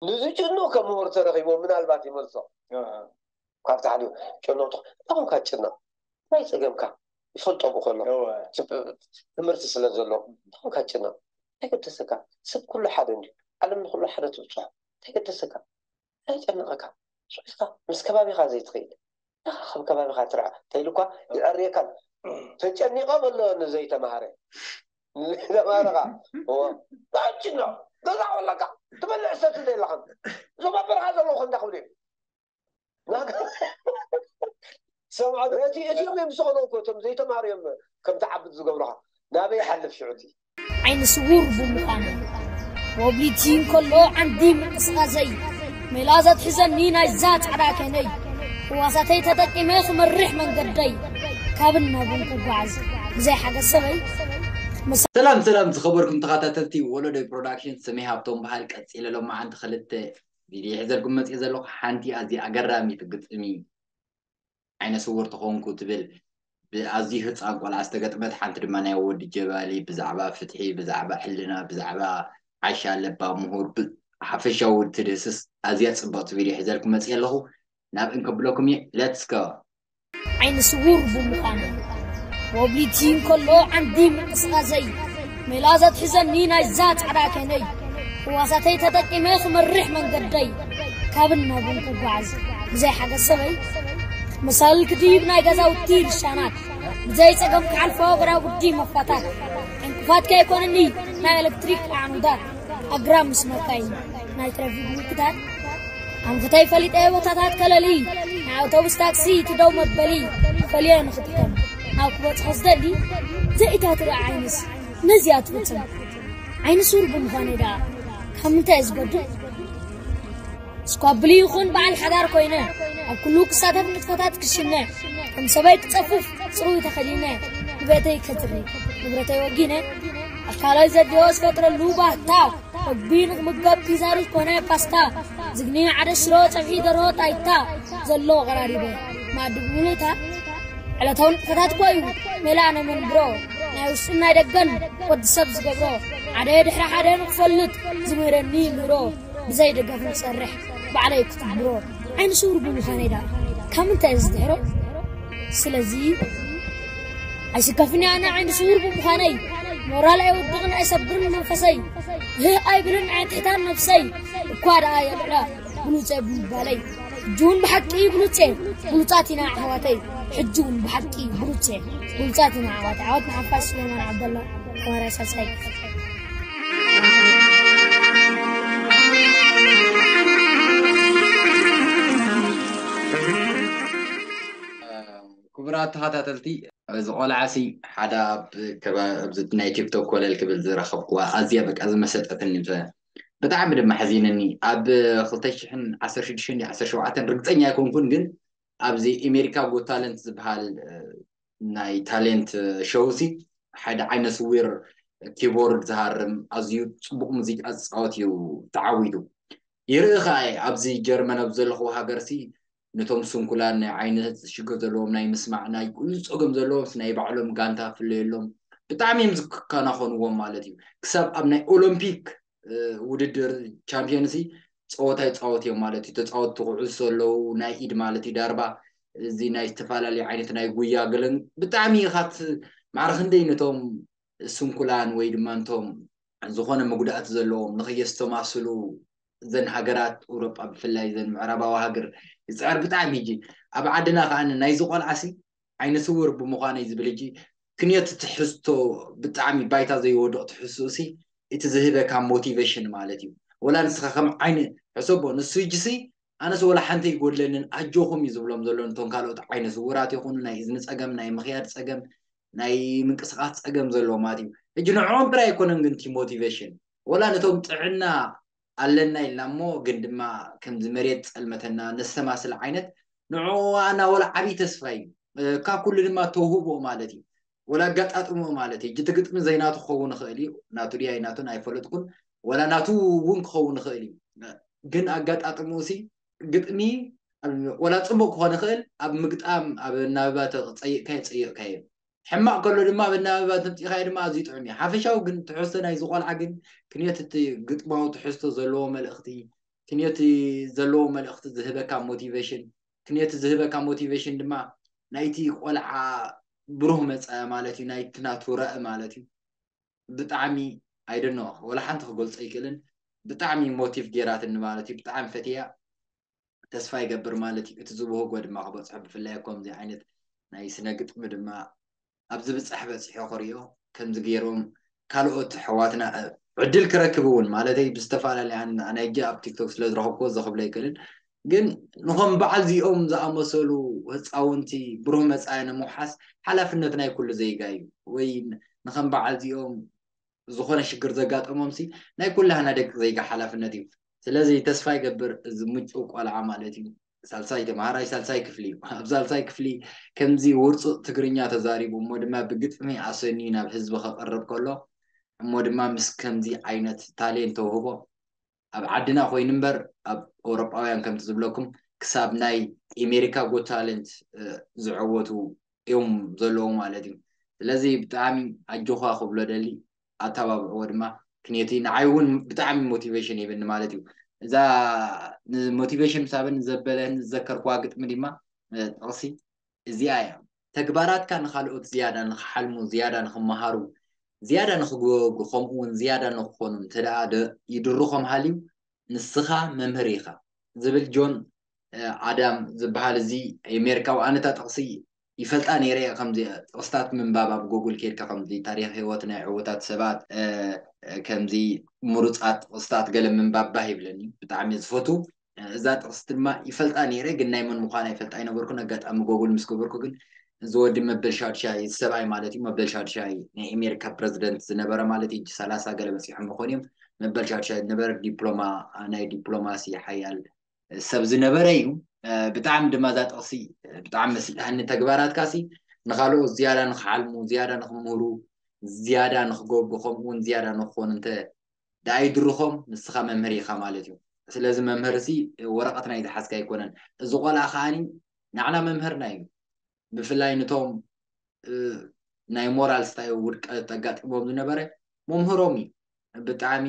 ንዝጭንቕ ከም ምሁር ተረኺቦ ምናልባት ይመልሶ። ካብ ታሕቲ ጨነቕቱ እንታይ ኮንካ ትጭነቕ? እንታይ ጸገምካ? ይፈልጦ ብከሎ ትምህርቲ ስለ ዘሎ እንታይ ኮንካ ትጭነቕ? እንታይ ገደሰካ? ሰብ ኩሉ ሓደ እንድዩ። ዓለም ንኩሉ ሓደ ትብጽሖ። እንታይ ገደሰካ? እንታይ ጨነቐካ? ስሒትካ ምስ ከባቢኻ ዘይትኸይድ ካብ ከባቢኻ ትርዓ ተይሉ እኳ ይዕርየካን። ተጨኒቐ በሎ ንዘይተማሃረ ንዘይተማሃረኻ። እዎ። ታችኖ ገዛ ወለካ ትበልዕ ሰት ዘይለኻን እዞም ኣብ በረኻ ዘለዉ ክንዳ ክብሉ እዮም። ሰምዖ እቲ እዚኦም እዮም ዝሰኽነው እኮ እቶም ዘይተማሃሩ እዮም ከም ትዓብድ ዝገብሩኻ። ናበይ ይሓልፍ ሽዑ እቲ? ዓይኒ ስውር ብምዃነይ ወብሊቲ እንከሎ ዓንዲ ምንቅስቓሰይ ሜላ ዘትሕዘኒ ናይዛ ጻዕዳ ከነይ ህዋሳተይ ተጠቂመ ክመርሕ መንገደይ ካብን ናብን ክጓዓዝ ብዘይ ሓገዝ ሰበይ ሰላም ሰላም ዝኸበርኩም ተኸታተልቲ ወለዶይ ፕሮዳክሽን፣ ስሜ ሃብቶም በሃል። ቀፂለ ሎማዓንቲ ክልተ ቪድዮ ሒዘልኩም መፅእ ዘለኹ። ሓንቲ ኣዝያ ኣገራሚት ግጥሚ ዓይነ ስውር ተኾንኩ ትብል ብኣዝዩ ህፃን ቆልዓ ዝተገጥመት፣ ሓንቲ ድማ ናይ ወዲ ጀባሊ ብዛዕባ ፍትሒ፣ ብዛዕባ ሕልና፣ ብዛዕባ ዓሻ ለባ ምሁር፣ ሓፈሻዊ ትድህስስ ኣዝያ ፅብቕቲ ቪድዮ ሒዘልኩም መፅእ ኣለኹ። ናብ እንከብለኩም እየ። ሌትስ ጎ። ዓይኒ ስውር ብምዃነ ወብሊቲ እንከሎ ዓንዲ ምንቅስቓሰይ ሜላ ዘትሕዘኒ ናይዛ ጻዕዳ ከነይ ህዋሳተይ ተጠቂመ ክመርሕ መንገደይ ካብን ናብን ክጓዓዝ ብዘይ ሓገዝ ሰበይ መሳልል ክድይብ ናይ ገዛውቲ ልሻናት ብዘይ ጸገም ክሓልፎ ገዳጉዲ መፋታት ዕንቅፋት ከይኮንኒ ናይ ኤሌክትሪክ ኣዕኑዳት ኣግራብ ምስ መካይን ናይ ትራፊክ ምልክታት ኣንፈተይ ፈሊጠ ቦታታት ከለሊ ናይ ኣውቶቡስ ታክሲ ትደው መበሊ ፈልየ ንኽጥቀም ናብ ክበጽሖ ዝደሊ ዘኢታ ትርኢ ዓይንስ ነዚኣ ትፍጽም ዓይኒ ሱር ብምዃነይ ደኣ ካብ ምንታይ እየ ዝጎድእ ስኳብል ይኹን በዓል ሓዳር ኮይነ ኣብ ኩሉ ክሳተፍ ንጥፈታት ክሽነ ከም ሰበይ ክጸፍፍ ጽሩይ ተኸዲነ ንብረተይ ከጥሪ ንብረተይ ወጊነ ኣካላይ ዘድዮ ዝፈጥረሉ ባህታ መግቢ ንኽምገብ ፒዛ ሩዝ ኮነ ፓስታ ዝግኒ ሓደ ሽሮ ጸብሒ ደርሆ ጣይታ ዘሎ ቀራሪበ ማዲ ብምሉእታ ዕለታዊ ንጥፈታት ኮዩ ሜላ ናይ መንብሮ ናይ ውሽጥን ናይ ደገን ወዲ ሰብ ዝገብሮ ሓደ ድሕሪ ሓደ ንክፈልጥ ዝምህረኒ ምህሮ ብዘይ ደገፍ ንሰርሕ ባዕለይ ክትግብሮ ዓይኒ ስውር ብምዃነይ ደኣ ካብ ምንታይ ዝድሕሮ ስለዚ ኣይስከፍኒ ኣነ ዓይኒ ስውር ብምዃነይ ሞራል ኣይወድቕን ኣይሰብርን መንፈሰይ ህህ ኣይብልን ኣየትሕታን ነብሰይ እኳ ደኣ የብዕላ ብሉፀ ብምባለይ ሕጂ እውን ብሓቂ ብሉፀ ብሉፃት ኢና ኣሕዋተይ ሕጂ እውን ብሓቂ ብሉፀ ብሉፃት ኢና ኣሕዋተይ ዓወት ንሓፋሽ ሱሌማን ዓብደላ ተዋራይ ሳልሳይ ክቡራት ተኸታተልቲ እዚ ቆልዓ ሲ ሓደ ኣብ ናይ ቲክቶክ ኮለል ክብል ዝረኸብክዋ ኣዝያ በቃ ዝመሰጠትኒ ብጣዕሚ ድማ ሓዚነኒ ኣብ ክልተ ሽሕን ዓሰርተ ሽዱሽተን ዓሰርተ ሸውዓተን ርግፀኛ ኣይኮንኩን ግን ኣብዚ ኤሜሪካ ጎ ታለንት ዝበሃል ናይ ታሌንት ሸው ሲ ሓደ ዓይነ ስዊር ኪቦርድ ዝሃርም ኣዝዩ ፅቡቅ ሙዚቃ ዝፃወት እዩ ተዓዊቱ ይርኢ ከዓ ኣብዚ ጀርመን ኣብ ዘለኹ ሃገር ሲ ነቶም ስንኩላን ናይ ዓይነ ሽግር ዘለዎም ናይ ምስማዕ ናይ ኩሉ ፀገም ዘለዎም ናይ ባዕሎም ጋንታ ፍለየሎም ብጣዕሚ እዮም ዝከናኸንዎም ማለት እዩ ክሳብ ኣብ ናይ ኦሎምፒክ ውድድር ቻምፒዮንሲ ፀወታ ይፃወት እዮም ማለት እዩ ተፃወትቲ ኩዕሶ ኣለዉ ናይ ኢድ ማለት እዩ ዳርባ እዚ ናይ ዝተፈላለዩ ዓይነት ናይ ጉያ ገለን ብጣዕሚ ኢኻት ማዕረ ክንደይ ነቶም ስንኩላን ወይ ድማ ነቶም ዝኾነ መጉዳእቲ ዘለዎም ንኸየስተማስሉ ዘን ሃገራት ኤውሮጳ ብፍላይ ዘን ምዕራባዊ ሃገር ይፅዕር ብጣዕሚ ሕጂ ኣብ ዓድና ከዓ ናይዚ ቆልዓሲ ዓይነ ስውር ብምዃነይ ዝብል ሕጂ ክንዮት ትሕዝቶ ብጣዕሚ ባይታ ዘይወድቕ ትሕዝቶሲ እቲ ዝህበካ ሞቲቬሽን ማለት እዩ ወላ ንስኻ ከም ዓይነ ሕሰቦ ንሱ ሕጂሲ ኣነስ ወላ ሓንቲ ይጎድለንን ኣጆኹም እዩ ዝብሎም ዘሎ ነቶም ካልኦት ዓይነ ስውራት ይኹኑ ናይ እዝኒ ፀገም ናይ ምኽያድ ፀገም ናይ ምንቅስቃስ ፀገም ዘለዎ ማለት እዩ ሕጂ ንዕኦም ጥራይ ኣይኮነን ግን እቲ ሞቲቬሽን ወላ ነቶም ጥዕና ኣለና ኢልና እሞ ግን ድማ ከምዚ መሬት ፀልመተና ነስተማስል ዓይነት ንዕኡ ኣና ወላ ዓብዪ ተስፋ እዩ ካብ ኩሉ ድማ ተውህቦ ማለት እዩ ወላ ኣጋጣጥሞ ማለት እዩ እቲ ግጥሚ ዘይናቱ ክኸውን ይኽእል እዩ ናቱ ድያ ናቱን ኣይፈለጥኩን ወላ ናቱ እውን ክኸውን ይኽእል እዩ ግን ኣጋጣጥሞ ሲ ግጥሚ ወላ ፅቡቅ ክኾን ይኽእል ኣብ ምግጣም ኣብ እናበባ ተፀይቕካዮ ፀይቕካዮ ሕማቕ ከሎ ድማ ኣብ እናበባ ተምፂኻዮ ድማ ኣዝዩ ጥዑም እዩ ሓፈሻዊ ግን ትሕዝቶ ናይ ዝቆልዓ ግን ክንዮት እቲ ግጥማዊ ትሕዝቶ ዘለዎ መልእኽቲ ክንዮቲ ዘለዎ መልእኽቲ ዝህበካ ሞቲቬሽን፣ ክንዮቲ ዝህበካ ሞቲቬሽን ድማ ናይቲ ቆልዓ ብሩህ መጻኢ ማለት እዩ፣ ናይቲ ናቱ ራኢ ማለት እዩ። ብጣዕሚ ኣይደኖ ወላ ሓንቲ ክገልጾ ኣይክእልን። ብጣዕሚ ሞቲቭ ጌራትኒ ማለት እዩ። ብጣዕሚ ፈትያ ተስፋ ይገብር ማለት እዩ። እቲ ዝብህጎ ድማ ክበጽሖ፣ ብፍላይ ከምዚ ዓይነት ናይ ስነ ግጥሚ ድማ ኣብዚ ብጻሕ በጺሖ ክሪኦ፣ ከምዚ ገይሮም ካልኦት ኣሕዋትና ዕድል ክረክብ እውን ማለተይ ብዝተፈላለየ፣ ኣነ ሕጂ ኣብ ቲክቶክ ስለ ዝረኸብኩ እዚ ክብሎ ኣይክእልን፣ ግን ንኸም በዓል እዚኦም ዝኣመሰሉ ህፃውንቲ ብሩህ መፃኢ ንምውሓስ ሓላፍነት ናይ ኩሉ ዜጋ እዩ። ወይ ንኸም በዓል እዚኦም ዝኾነ ሽግር ዘጋጠሞም ሲ ናይ ኩላህና ደቂ ዜጋ ሓላፍነት እዩ። ስለዚ ተስፋ ይገብር እዚ ምጩ ቆልዓ ማለት እዩ፣ ሳልሳይ ተምሃራይ ሳልሳይ ክፍሊ እዩ። ኣብ ሳልሳይ ክፍሊ ከምዚ ውርፁ ትግርኛ ተዛሪቡ እሞ ድማ ብግጥሚ ኣሰንዩ ናብ ህዝቢ ከቕርብ ከሎ እሞ ድማ ምስ ከምዚ ዓይነት ታሌንት ተውህቦ ኣብ ዓድና ኮይኑ እምበር ኣብ ኣውሮጳውያን ከምቲ ዝብለኩም ክሳብ ናይ ኤሜሪካ ጎት ታለንት ዝዕወቱ እዮም ዘለዉ ማለት እዩ። ስለዚ ብጣዕሚ ኣጆኻ ክብሎ ደሊ ኣተባብዕዎ ድማ ክንየቲ ንዓይ እውን ብጣዕሚ ሞቲቬሽን ይብኒ ማለት እዩ። እዛ ንሞቲቬሽን ሳበን ዘበለህን ዝዘከርኩዋ ግጥሚ ድማ ጥቕሲ እዚኣ እያ። ተግባራትካ ንኻልኦት ዝያዳ ንክሓልሙ፣ ዝያዳ ንክመሃሩ፣ ዝያዳ ንክጎብጉ፣ ከምኡ እውን ዝያዳ ንክኾኑ እንተ ደኣ ይድርኾም ሃልዩ ንስኻ መምህር ኢኻ ዝብል ጆን ኣዳም ዝበሃል እዚ ኣሜሪካዊ ኣነታ ጥቕሲ ይፈልጣ ነይረ እየ። ከምዚ ጥቕስታት ምንባብ ኣብ ጎጉል ኬድካ ከምዚ ታሪክ ህይወት ናይ ዕውታት ሰባት ከምዚ ምሩፃት ጥቕስታት ገለ ምንባብ ባህ ይብለኒ፣ ብጣዕሚ ዝፈቱ። እዛ ጥቕሲ ድማ ይፈልጣ ነይረ፣ ግን ናይ መን ምዃና ይፈልጣ ኣይነበርኩን። ኣጋጣሚ ጎጉል ምስ ገበርኩ ግን እዚ ወዲ መበል ሻድሻይ፣ እዚ ሰብኣይ ማለት እዩ፣ መበል ሻድሻይ ናይ ኣሜሪካ ፕረዚደንት ዝነበረ ማለት እዩ። ሰላሳ ገለ በፂሖም ይኾኑ እዮም። መበል ሻድሻይ ዝነበረ ዲፕሎማ፣ ናይ ዲፕሎማሲ ሓያል ሰብ ዝነበረ እዩ። ብጣዕሚ ድማ እዛ ጥቕሲ ብጣዕሚ መስልሃኒ። ተግባራትካ ሲ ንኻልኦት ዝያዳ ንክሓልሙ፣ ዝያዳ ንክምህሩ፣ ዝያዳ ንክገብሩ፣ ከምኡ እውን ዝያዳ ንክኾኑ እንተ ደኣ ይድርኾም ንስኻ መምህር ኢኻ ማለት እዩ። ስለዚ መምህር ሲ ወረቐት ናይ ዝሓዝካ ኣይኮነን። እዚ ቆልዓ ከዓኒ ንዓና መምህርና እዩ። ብፍላይ ንቶም ናይ ሞራል ስታይ ውድቀት ኣጋጢሞም ዝነበረ መምህሮም እዩ። ብጣዕሚ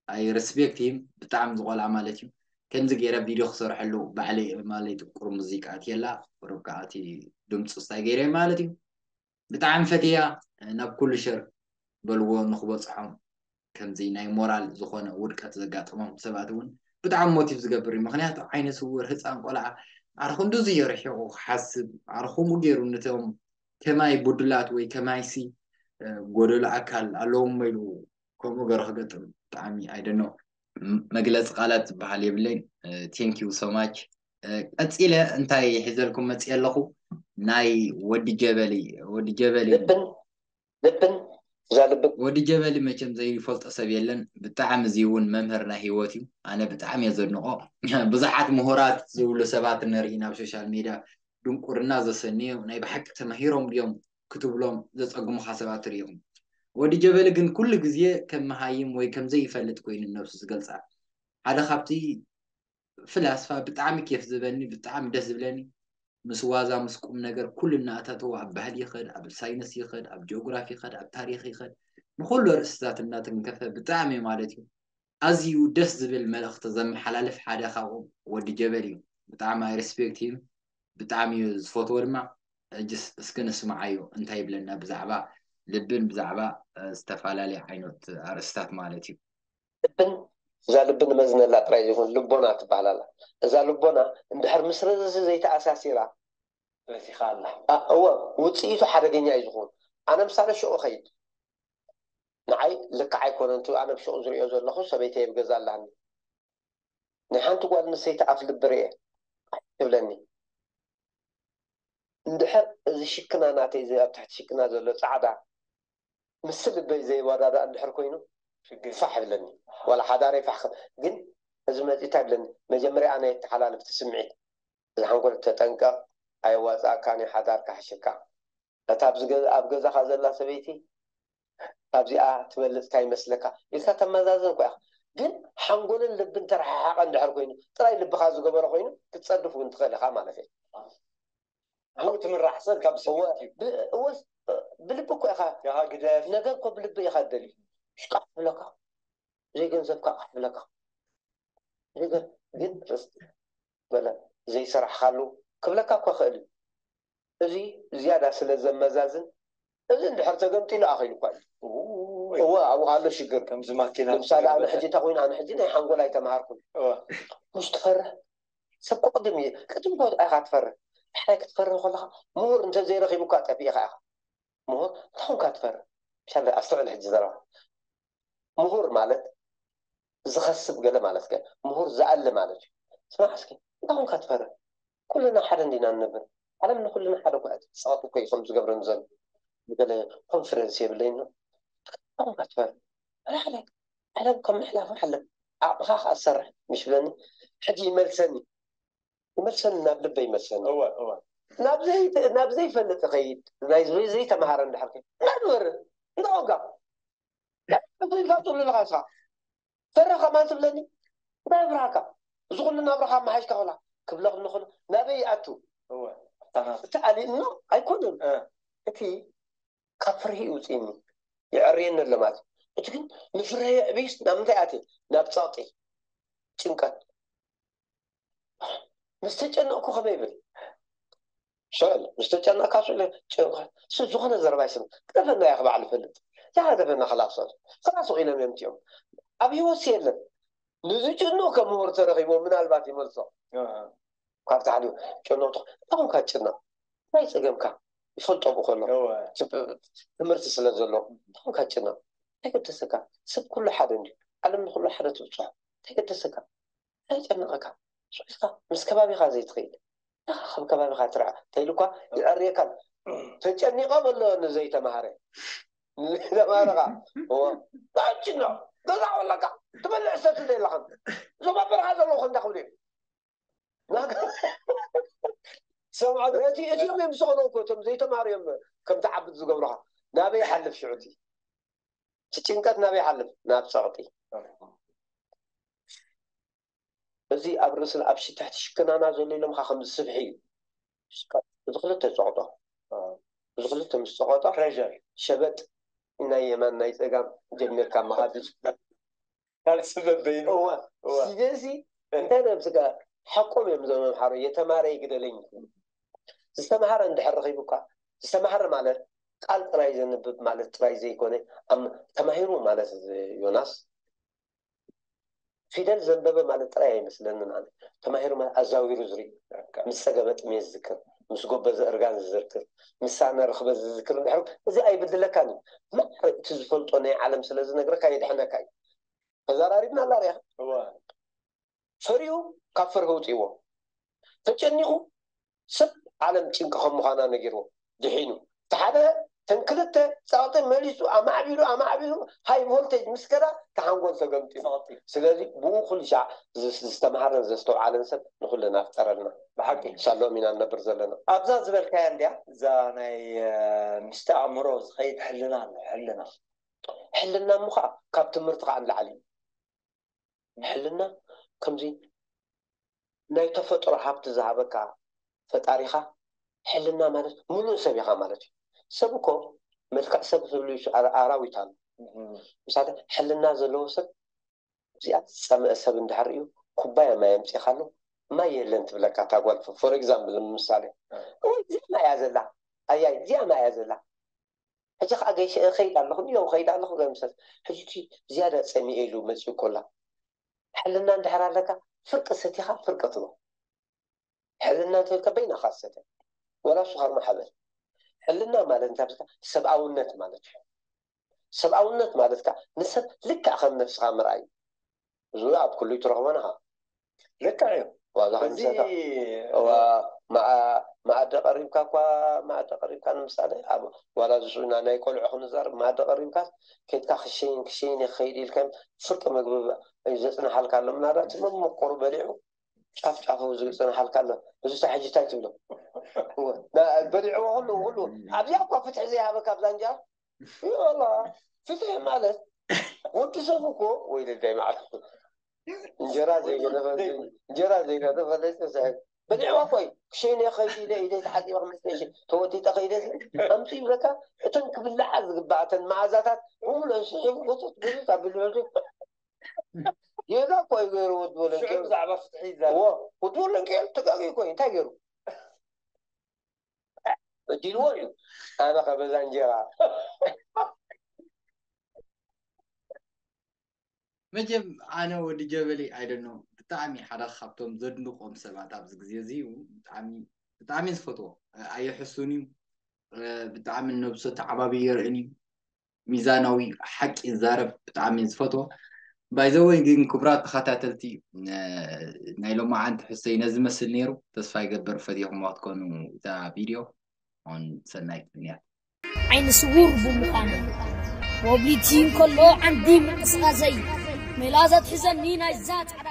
ኣይ ሪስፔክት ሂም ብጣዕሚ ዝቆልዓ ማለት እዩ። ከምዚ ገይረ ቪድዮ ክሰርሐሉ ባዕለይ ማለት እዩ። ቁሩብ ሙዚቃ ኣትየላ ቁሩብ ከዓ እቲ ድምፁ ስታይ ገይረ ማለት እዩ። ብጣዕሚ ፈትያ ናብ ኩሉ ሸር በልዎ ንክበፅሖም። ከምዚ ናይ ሞራል ዝኾነ ውድቀት ዘጋጠሞም ሰባት እውን ብጣዕሚ ሞቲቭ ዝገብር እዩ። ምክንያቱ ዓይነ ስውር ህፃን ቆልዓ ኣረ ክንድዚ እዩ ርሒቑ ክሓስብ፣ ኣረ ከምኡ ገይሩ ነቶም ከማይ ቡድላት ወይ ከማይሲ ጎደሎ ኣካል ኣለዎም ኢሉ ከምኡ ገይሩ ክገጥም ብጣዕሚ ኣይደኖ መግለፂ ቃላት ዝበሃል የብለይን። Thank you so much። ቀፂለ እንታይ ሒዘልኩም መፅየ ኣለኹ? ናይ ወዲ ጀበሊ፣ ወዲ ጀበሊ ልብን ልብን እዛ ልብን ወዲ ጀበሊ መቸም ዘይፈልጦ ሰብ የለን። ብጣዕሚ እዚ እውን መምህር ናይ ህይወት እዩ። ኣነ ብጣዕሚ እየ ዘድንቆ። ብዙሓት ምሁራት ዝብሉ ሰባት ንርኢ ናብ ሶሻል ሚድያ ድንቁርና ዘሰንዩ ናይ ብሓቂ ተማሂሮም ድዮም ክትብሎም ዘፀግሙኻ ሰባት ትርኢ ኢኹም። ወዲ ጀበሊ ግን ኩሉ ግዜ ከም መሃይም ወይ ከም ዘይፈልጥ ኮይኑ ነብሱ ዝገልፃ ሓደ ካብቲ ፍላስፋ ብጣዕሚ ኬፍ ዝበኒ ብጣዕሚ ደስ ዝብለኒ ምስ ዋዛ ምስ ቁም ነገር ኩሉ እናእታተወ ኣብ ባህሊ ይኸድ ኣብ ሳይንስ ይኸድ ኣብ ጂኦግራፊ ይኸድ ኣብ ታሪክ ይኸድ ንኩሉ ርእስታት እናተንከፈ ብጣዕሚ ማለት እዩ ኣዝዩ ደስ ዝብል መልእኽቲ ዘመሓላልፍ ሓደ ካብኦም ወዲ ጀበል እዩ። ብጣዕሚ ኣይ ሪስፔክት ሂም ብጣዕሚ እዩ ዝፈትዎ ድማ። ሕጅስ እስኪ ንስምዓዮ እንታይ ይብለና ብዛዕባ ልብን ብዛዕባ ዝተፈላለየ ዓይነት ኣርእስታት ማለት እዩ። ልብን እዛ ልቢ ንመዝነላ ጥራይ ዘይኮን ልቦና ትበሃል ኣላ። እዛ ልቦና እንድሕር ምስ ርእሲ ዘይተኣሳሲራ በቲኻ ኣላ። እወ ውፅኢቱ ሓደገኛ እዩ ዝኸውን። ኣነ ምሳሌ ሽዑ ኸይድ ንዓይ ልክዕ ኣይኮነን እቲ ኣነ ብሽዑ ዝሪኦ ዘለኹ ሰበይተይ ኣብ ገዛ ኣላኒ ናይ ሓንቲ ጓል ኣንስተይቲ ኣፍ ልቢ ርኤ ትብለኒ እንድሕር እዚ ሽክና ናተይ እዚ ኣብ ትሕቲ ሽክና ዘሎ ፃዕዳ ምስ ልበይ ዘይወዳዳእ እንድሕር ኮይኑ ፋሕ ይብለኒ ዋላ ሓዳረይ ፋሕ ግን እዚ መፂ እንታይ ይብለኒ መጀመርያ ኣነ የተሓላልፍቲ ስምዒት እዚ ሓንጎል ተጠንቀቕ ኣየዋፅኣካን እዩ ሓዳር ካሕሽካ እታ ኣብ ገዛኻ ዘላ ሰበይቲ ካብዚኣ ትበልፅካ ይመስለካ ኢልካ ተመዛዘን እኳ ኢኻ ግን ሓንጎልን ልብን ተረሓሓቐ እንድሕር ኮይኑ ጥራይ ልብኻ ዝገበሮ ኮይኑ ክትፀድፍ እውን ትኽእል ኢኻ ማለት እዩ ኣብኡ ትምራሕ ሰብ ካብ ሰብ እዩ እወስ ብልቢ እኮ ኢኻ ያሃ ግደፍ ነገር እኮ ብልቢ ኢኻ ትደልዩ ሽቃሕ ትብለካ ዘይገንዘብካ ቃሕ ትብለካ ግን በለ ዘይሰራሕካሉ ክብለካ እኳ ክእል እዩ። እዚ ዝያዳ ስለ ዘመዛዝን፣ እዚ እንድሕር ተገምጢሉ ኣኺሉ እኳ እዩ። እወ፣ ኣብኡ ኣሎ ሽግር። ከምዚ ማኪና ንምሳሌ ኣነ ሕጂ እንታይ ኮይኑ፣ ኣነ ሕጂ ናይ ሓንጎል ኣይተምሃርኩን። ምስ ትፈርህ ሰብ ክቕድም እዩ። ቅድም እኮ ኢኻ ትፈርህ። ድሕራይ ክትፈርህ ከለኻ ምሁር እንተዘይረኺቡካ ጠፊእኻ ኢኻ። ምሁር እንታይ ኮንካ ትፈርህ? ሻለ ኣስተውዕል ሕጂ ዘረባ። ምሁር ማለት ዝኸስብ ገለ ማለት ከ፣ ምሁር ዝኣሊ ማለት እዩ። ስማዕ እስኪ፣ እንታይ ኮንካ ትፈርህ? ኩልና ሓደ እንዲና ንነብር። ዓለም ንኩልና ሓደ እኮ እያ። ጸቕጢ እኮ እዩ ከም ዝገብረኒ ዘሎ። ብገለ ኮንፈረንስ የብለይን ነው። እንታይ ኮንካ ትፈርህ? ሓደ ሓደ ዓለም ከም ምሕላፍ ዓለም። ዓቕምኻ ከኣ ትሰርሕ ምሽ ብለኒ። ሕጂ ይመልሰኒ። ይመልሰኒ፣ ናብ ልበ ይመልሰኒ። እወ፣ እወ። ናብ ዘይ-፣ ናብ ዘይፈልጥ እኸይድ፣ ናይ ዘይ-፣ ዘይተምሃረ እንድሕር ከይድ። እንታይ ትፈርህ? እንታይ ኮንካ? እንታይ ትብለኒ ኢኻ ንስኻ? ፈረ ከማን ትብለኒ? እንታይ ይብርሃካ? እዚ ኩሉ ናብራኻ ኣመሓይሽካ ከላ ክብለኽ እንኽሎ ናበይ ይኣቱ? እወ፣ ኣፍታ ናብራ። እቲ ኣሊእኖ ኣይኮነን። እ። እቲ ካብ ፍርሂ ይውፅእኒ፣ ይዕርየኒ ኣሎ ማለት እዩ። እቲ ግን ንፍርሂ የዕብይስ ናብ ምንታይ ኣትየ? ናብ ፀቕጢ፣ ጭንቀት። ምስ ተጨነቕኩ ከመይ ይብል? ሰል፣ ምስ ተጨነቕካ ስለ ጭንቀት፣ ስ-፣ ዝኾነ ዘረባ ይስም። ክደፈና እያ ክበዓል ይፈልጥ። እዛ ክደፈና ክላሶት። ክላስ ኢሎም እዮም እቲኦም። ኣብ ህይወት የለን። ንዝጭንቕ ከም ምሁር ተረኺቦም ምናልባት ይመልሶ። ኣሃ። ካብቲ ሓሊፉ ጨነቕቱ፣ እንታይ ኮንካ ትጭነቕ? እንታይ ጸገምካ? ይፈልጦ ብኡ ከሎ። እወ። ትምህርቲ ስለ ዘሎ፣ እንታይ ኮንካ ትጭነቕ? እንታይ ገደሰካ? ሰብ ኩሉ ሓደ እንድዩ። ዓለም ንኹሉ ሓደ ትብጽሖ። እንታይ ገደሰካ? እንታይ ይጨንቐካ? ስሒትካ ምስ ከባቢኻ ዘይትኸይድ። ኢኻ ካብ ከባቢኻ ትርዓ። ተይልኳ ይዕርየካን። ተጨኒቐ በሎ ንዘይተማሃረ። ንዘይተማሃረ ኸዓ፣ እወ፣ እንታይ ትጭነቕ? ገዛ ወለካ፣ ትበልዕ ሰትል የለኻን። እዞም ኣብ በረኻ ዘለዉ ከ እንታይ ክብሉ እዮም? ናጋ-፣ ሰምዖ፣ እቲ፣ እቲኦም እዮም ዝኾኑ እኮ፣ እቶም ዘይተማሃሩ እዮም ከም ትዓብድ ዝገብሩኻ። ናበይ ይሓልፍ ሽዑ እቲ? እቲ ጭንቀት ናበይ ይሓልፍ? ናብ ጸቕጢ። እዚ ኣብ ርእስን ኣብ ሽትሕቲ ሽክናና ዘሎ ኢሎምኻ ከምዚ ስብሒ እዩ። እዚ ክልተ ጸቕጦ። እዚ ክልተ ምስ ጸቐጦ፣ ፕሬሸር። ሸበጥ ናይ የማን ናይ ጸጋም ጀሚርካ ምኻድ እዩ። ካልሲ በበይኑ። እወ። እወ። ስለዚ እንታይ ነብስካ ሓቆም እዮም እዞም መምሓሮ፣ የተማረ ይግደለኝ። ዝተማሃረ እንድሕር ረኺቡካ፣ ዝተማሃረ ማለት ቃል ጥራይ ዘንብብ ማለት ጥራይ ዘይኮነ፣ ኣም-፣ ተማሂሩ ማለት ዮናስ፣ ፊደል ዘንበበ ማለት ጥራይ ኣይመስለንን ኣነ። ተማሂሩ ማለት ኣዛዊሩ ዝርኢ፣ ምስ ጸገበ ጥሜት ዝዝክር፣ ምስ ጎበዘ እርጋን ዝዝክር፣ ምስ ሳነ ርኽበ ዝዝክር እንድሕር፣ እዚ ኣይብድለካን እዩ። ማዕረ እቲ ዝፈልጦ ናይ ዓለም ስለ ዝነግረካ የድሕነካ እዩ። ተዘራሪብና ኣላ ርኢኻ? እወ። ፈሪሁ ካብ ፍርሂ ውፅእዎ። ተጨኒቑ ሰብ ዓለም ጭንቂ ከም ምዃና ነጊርዎ ድሒኑ። እቲ ሓደ ተን ክልተ ጸቕጢ መሊሱ ኣማዕቢሉ ኣማዕቢሉ ሃይ ቮልቴጅ ምስ ከዳ እቲ ሓንጎል ተገምጢሉ። ጸቕጢ። ስለዚ ብኡ ኩሉ ሻዕ ዝ-፣ ዝተምሃረን ዘስተውዓለን ሰብ ንኹልና ፍጠረልና። ብሓቂ። ሳሎም ኢና ንነብር ዘለና። ኣብዛ ዝበልካያ እንድያ እዛ ናይ፣ እ፣ ምስቲ ኣእምሮ ዝኸይድ ሕልና ኣሎ፣ ሕልና። ሕልና እሞ ኸዓ ካብ ትምህርቲ ኸዓ ንላዕሊ እዩ። ሕልና ከምዚ ናይ ተፈጥሮ ሃብቲ ዝሃበካ ፈጣሪኻ፣ ሕልና ማለት ምሉእ ሰብ ኢኻ ማለት እዩ። ሰብ እኮ መልክዕ ሰብ ዝብሉ ኣራ-፣ ኣራዊት ኣሎ። እህ። ምሳሌ ሕልና ዘለዎ ሰብ፣ እዚኣ ዝጸመአ ሰብ እንድሕር እዩ፣ ኩባያ ማይ ኣምጺኻሉ፣ ማይ የለን ትብለካ እታ ጓል። ፎር ኤግዛምፕል፣ ንምሳሌ፣ እወይ፣ እዚኣ ማይ እያ ዘላ፣ ኣያይ፣ እዚኣ ማይ እያ ዘላ። ሕጂ ኸዓ ገይሸ እኸይድ ኣለኹ፣ እዮ፣ እኸይድ ኣለኹ፣ ገምሰስ። ሕጂ እቲ ዝያዳ ጸሚኤ ኢሉ መጺኡ ኮላ። ሕልና እንድሕር ኣለካ፣ ፍርቂ ሰቲኻ፣ ፍርቂ ትቦ። ሕልና እንተልካ በይናኻ ትሰተ። ወላ እሱ ኸርማ ሓበል። ሕልና ማለት እንታይ ብዝካ? ሰብኣውነት ማለት እዩ። ሰብኣውነት ማለት ከ ንሰብ ልክዕ ከም ነፍስኻ ምርኣይ። እዚ ኣብ ኩሉ ትረኽቦ ንኻ። ልክዕ እዩ። ዋዛ እዚ ከምሰታ። እዋ፣ መኣ-፣ መኣዲ ቀሪብካ እኳ፣ መኣዲ ቀሪብካ ንምሳሌ፣ ኣብ ዋላ ዝሱና ናይ ቆልዑ ክንዛረብ፣ መኣዲ ቀሪብካ፣ ኬድካ ክሸይን፣ ክሸይን እየ ክኸይድ ኢልካ፣ ፍርቂ ምግቢ እዩ ዘጽንሓልካ ኣሎ። ምናልባት መመቆሩ በሊዑ፣ ጫፍ ጫፉ ዝጽንሓልካ ኣሎ። እዚ ሳብ ሕጂ እንታይ ትብሎ? እወ፣ ና-፣ በሊዕዎ ኩሉ፣ ኩሉ። ኣብዚኣ እኳ ፍትሒ ዘይሃበካ ኣብዛ እንጀራ። ይበላ፣ ፍትሒ ማለት ወዲ ሰብ እኮ፣ ወይ ልደይ ማለት እንጀራ ዘይገደፈ፣ እንጀራ ዘይገደፈ ዘይተስሕት። በሊዕዋ እኮ እዩ። ክሸይነ ከይድ ኢለ፣ ኢደይ ተሓጺበ ክመጽእ እሺ፣ ተወጢጠ ከይደ፣ ኣምጽኡ ይብለካ። እተን ክብልዓ ዝግባእ፣ እተን መኣዛታት ብምሉአን ስሒቡ፣ ጎተት፣ ጎተት ኣቢሉ፣ ጌጋ እኮ እዩ ገይርዎ። ፉትቦል ሽዑ እንኪ- ብዛዕባ ፍትሒ እዎ፣ ይዛረብ። ፉትቦል እንኪ ተጋጊ እኮ እዩ። እንታይ ገይሩ? በዲልዎ እዩ። ኣነ ከበዛ እንጀራ መቸም ኣነ ወዲ ጀበሊ ኣይደኖ ብጣዕሚ ሓደ ካብቶም ዘድንቆም ሰባት ኣብዚ ግዜ እዚ እዩ። ብጣዕሚ ብጣዕሚ ዝፈትዎ ኣየሕሱን እዩ። ብጣዕሚ ነብሱ ተዓባቢ የርእን እዩ። ሚዛናዊ ሓቂ ይዛረብ ብጣዕሚ ዝፈትዎ። ባይዘወይ ግን ክቡራት ተኸታተልቲ ናይ ሎማዓንቲ ሕሰይ ነዚ መስል ነይሩ። ተስፋ ይገብር ፈቲኹም ክትኮኑ እታ ቪድዮ። ኣሁን ሰናይ ቅንያት ዓይኒ ስውር ብምዃኑ ወብሊቲ እንከሎ ዓንዲ ምንቅስቃሰይ ሜላ ዘትሕዘኒ ናይዛ ጻዕዳ